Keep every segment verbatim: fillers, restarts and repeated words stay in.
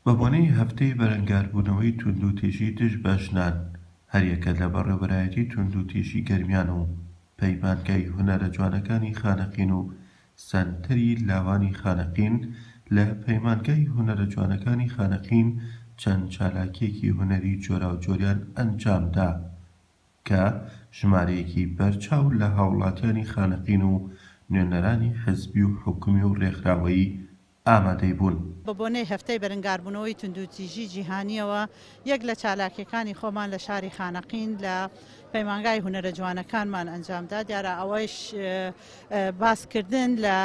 بە بۆنەی هەفتەی بەرەنگاربوونەوەی توندوتیژی دژ بە ژنان، هەریەکە لە بەڕێوەبەرایەتی توندوتیژی گەرمیان و پەیمانگای هونەرە جوانەکانی خانەقین و سەنتەری لاوانی خانەقین لە پەیمانگای هونەرە جوانەکانی خانەقین چەند چالاکیەکی هونەری جۆراوجۆریان ئەنجامدا کە ژمارەیەکی بەرچاو لە هاوڵاتیانی خانەقین و نوێنەرانی حزبی و حکومی و ڕێکخراوەیی ئامادەی بوون. بە بۆنەی هەفتەی بەرەنگاربوونەوەی توندوتیژی جیهانیەوە یەک لە چالاکیەکانی خۆمان لە شاری خانەقین لە پەیمانگای هونەرە جوانەکانمان ئەنجامدا. دیارە ئەوەیش باسکردن لە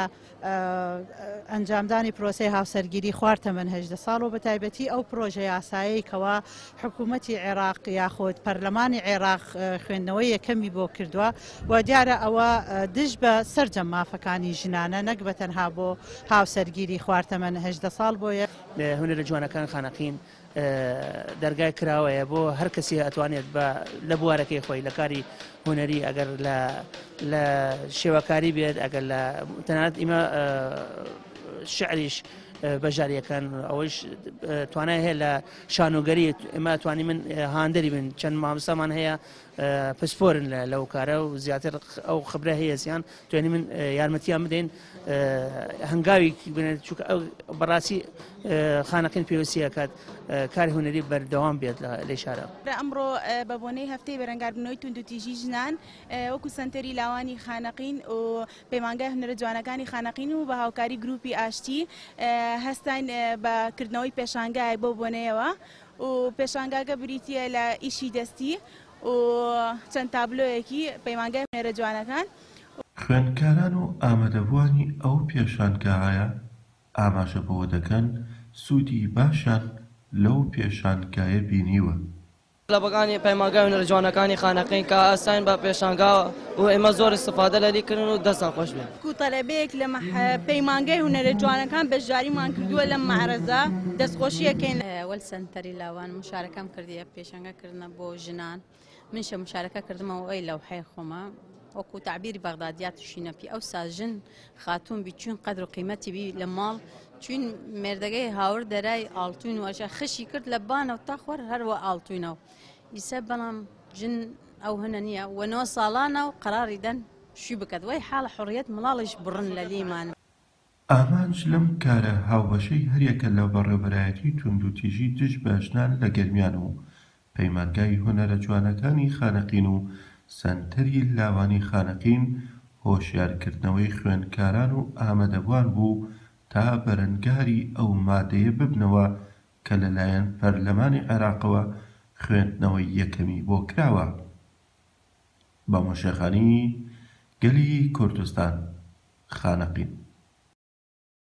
ئەنجامدانی پرۆسەی هاوسەرگیری خوار تەمەن هەژدە ساڵ و بە تایبەتی ئەو پرۆژە یاسایەی کەوا حکوومەتی عێراق یاخود پەرلەمانی عێراق خوێندنەوەی یەکەمی بۆ کردووە و دیارە ئەوە دژ بە سەرجەم مافەکانی ژنانە نەک بە تەنها بۆ هاوسەرگیری خوار تەمەن هەژدە ساڵ بۆیە. هونەرە جوانەکان خانەقین دەرگای کراوەیە بۆ هەر کەسی ئەتوانێت بە لە بوارەکەی خۆی لە کاری هونەری ئەگەر لە شێوەکاری بێت، ئەگەر لە تەنانەت ئیمە شعریش بەژاریەکان ئەوەیش توانای هەیە لە شانۆگەری ئێمە توانی من هاندەری بن. چەند مامۆستامان هەیە پسپۆرن لەو کارە و زیاتر ئەو خبرە هەیە زیان توانی من یارمەتیان بدەین هەنگاوی بنێت، چونکە ئەو بەڕاستی خانەقین پێویستیە کات کاری هونەری بەردەوام بێت لە شارە. ئەمڕۆ بە بۆنەی هەفتەی بەرەنگاربوونەوەی توندوتیژی ژنان وەکو سەنتەری لاوانی خانەقین و پەیمانگای هونەرە جوانەکانی خانەقین و بە هاوکاری گروپی ئاشتی هەستاین بە کردنەوەی پێشانگایەک بۆ بۆنەیەوە و پێشانگاکە بریتیە لە ئیشی دەستی و چەند تابلۆیەکی پەیمانگای هونەرە جوانەکان. خوێندکاران و ئامادەبووانی ئەو پێشانگایە ئاماژە بەوە دەکەن سوودی باشیان لەو پێشانگایە بینیوە. طلبەکانی پەیمانگای هونەرە جوانەکانی خانەقین کە ئەستاین بە پێشانگا و ئێمە زۆر استفادە لەلی کردن و دەستان خۆش بێت. کو تەلەبەیەک لە پەیمانگای هونەرە جوانەکان بەشداریمان کردووە لەم مەعرەزە، دەستخۆشیەکەین. وەل سەنتەری لاوان مشارەکەم کردیە پێشانگا کردنە بۆ ژنان، منشە مشارەکە کردمەوە ئەی لەوحەی خۆمە وەکو تعبیری بەغدادیات شینە پی ئەو ساژن خاتوون بی چوین قەدر و قیمەتی بی لە ماڵ، چوین مێردەکەی هاور دەرای ئاڵتوین وەشە خشی کرد لە بانەوە تا خوار هەروە ئاڵتوینەوە. ئیسە بەڵام ژن ئەو هەنە نییە و نۆ ساڵانە و قەراری دەن شوی بکات، وای حاڵە حڕیەت مڵاڵیش بڕن لە لیمان. ئامانج لەم کارە هاوبەشەی هەریەکە لە بەڕێوەبەرایەتی توندوتیژی دژ بە ژنان لە گەرمیان و پەیمانگای هونەرە جوانەکانی خانەقین و سەنتەری لاوانی خانەقین هۆشیارکردنەوەی خوێندکاران و ئامادەبووان بوو تا بەرەنگاری ئەو مادەیە ببنەوە کە لەلایەن پەرلەمانی عێراقەوە خوێندنەوەی یەکەمی بۆ کراوە. بە مۆشێخانی گەلی کوردستان، خانەقین.